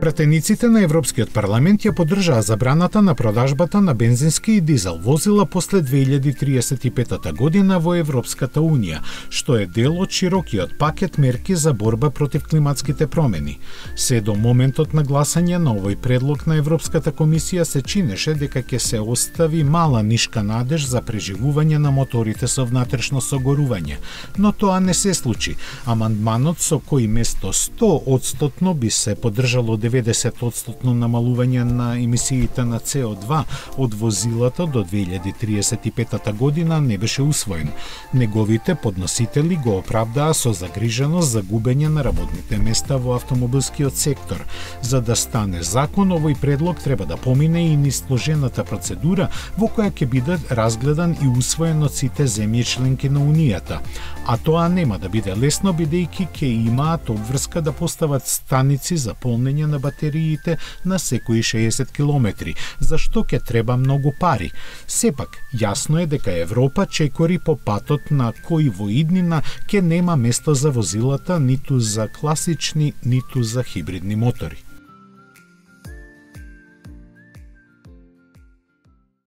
Пратениците на Европскиот парламент ја поддржаа забраната на продажбата на бензински и дизел возила после 2035 година во Европската Унија, што е дел од широкиот пакет мерки за борба против климатските промени. Се до моментот на гласање на овој предлог на Европската комисија се чинеше дека ќе се остави мала нишка надеж за преживување на моторите со внатрешно согорување, но тоа не се случи. Амандманот со кој место 100% би се поддржало 90% намалување на емисиите на CO2 од возилата до 2035 година не беше усвоен. Неговите подносители го оправдаа со загриженост за губење на работните места во автомобилскиот сектор. За да стане закон, овој предлог треба да помине и низ сложената процедура во која ќе биде разгледан и усвоен од сите земји членки на Унијата. А тоа нема да биде лесно, бидејќи ќе имаат обврска да постават станици за полнење на батериите на секои 60 километри, за што ќе треба многу пари. Сепак, јасно е дека Европа чекори по патот на кој во иднина ќе нема место за возилата ниту за класични, ниту за хибридни мотори.